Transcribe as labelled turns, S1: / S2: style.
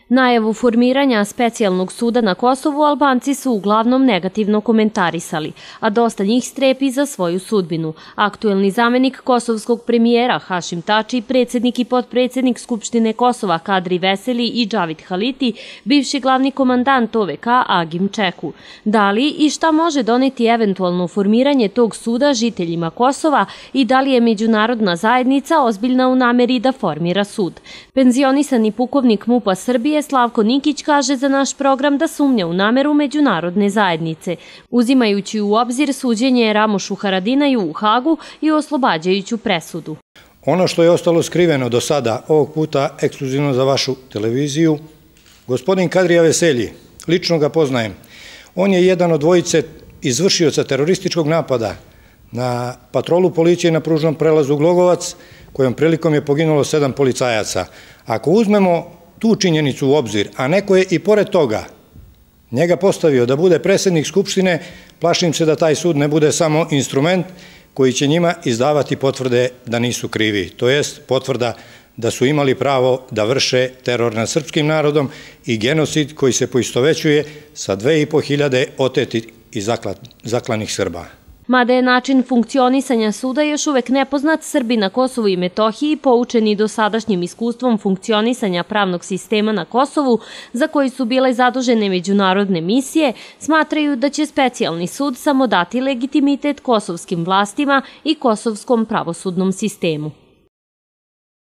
S1: Najavu formiranja specijalnog suda na Kosovu Albanci su uglavnom negativno komentarisali, a dosta njih strepi za svoju sudbinu. Aktuelni zamenik kosovskog premijera Hašim Tači, predsjednik i potpredsjednik Skupštine Kosova Kadri Veseli i Džavid Haliti, bivši glavni komandant OVK Agim Čeku. Da li i šta može doneti eventualno formiranje tog suda žiteljima Kosova i da li je međunarodna zajednica ozbiljna u nameri da formira sud? Penzionisani pukovnik MUP-a Srbije Slavko Nikić kaže za naš program da sumnja u nameru međunarodne zajednice, uzimajući u obzir suđenje Ramušu Haradinaju u Hagu i oslobađajuću presudu.
S2: Ono što je ostalo skriveno do sada, ovog puta ekskluzivno za vašu televiziju, gospodin Kadrija Veselji, lično ga poznajem, on je jedan od dvojice izvršioca terorističkog napada na patrolu policije na pružnom prelazu Glogovac, kojom prilikom je poginulo 7 policajaca. Ako uzmemo tu činjenicu u obzir, a neko je i pored toga njega postavio da bude predsjednik Skupštine, plašim se da taj sud ne bude samo instrument koji će njima izdavati potvrde da nisu krivi, to jest potvrda da su imali pravo da vrše teror nad srpskim narodom i genocid koji se poistovećuje sa 2500 otetih i zaklanih Srba.
S1: Mada je način funkcionisanja suda još uvek nepoznat, Srbi na Kosovu i Metohiji, poučeni dosadašnjim iskustvom funkcionisanja pravnog sistema na Kosovu, za koji su bile zadužene međunarodne misije, smatraju da će specijalni sud samo dati legitimitet kosovskim vlastima i kosovskom pravosudnom sistemu.